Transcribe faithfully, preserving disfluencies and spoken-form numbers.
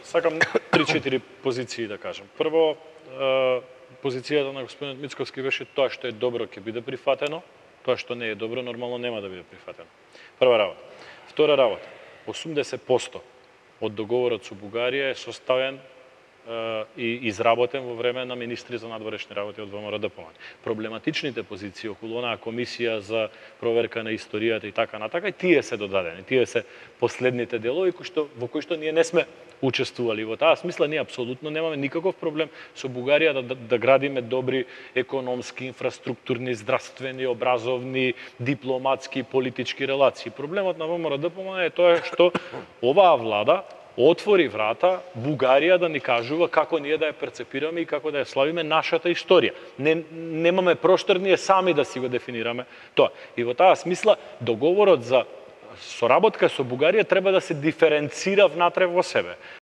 сакам три-четири позиции да кажам. Прво, позицијата на господинот Мицковски беше тоа што е добро ќе биде прифатено, тоа што не е добро нормално нема да биде прифатено. Прва работа. Втора работа. осумдесет проценти од договорот со Бугарија е составен и изработен во време на министри за надворешни работи од ВМРО-ДПМН. Проблематичните позиции околу онаа комисија за проверка на историјата и така натака, и тие се додадени. Тие се последните делови кои што во кои што ние не сме учествували. Во таа смисла ние апсолутно немаме никаков проблем со Бугарија да, да, да градиме добри економски, инфраструктурни, здравствени, образовни, дипломатски, политички релации. Проблемот на ВМРО-ДПМН е тоа што оваа влада отвори врата Бугарија да ни кажува како ние да ја перцепираме и како да ја славиме нашата историја. Не, немаме простор ние сами да си го дефинираме тоа. И во таа смисла договорот за соработка со Бугарија треба да се диференцира внатре во себе.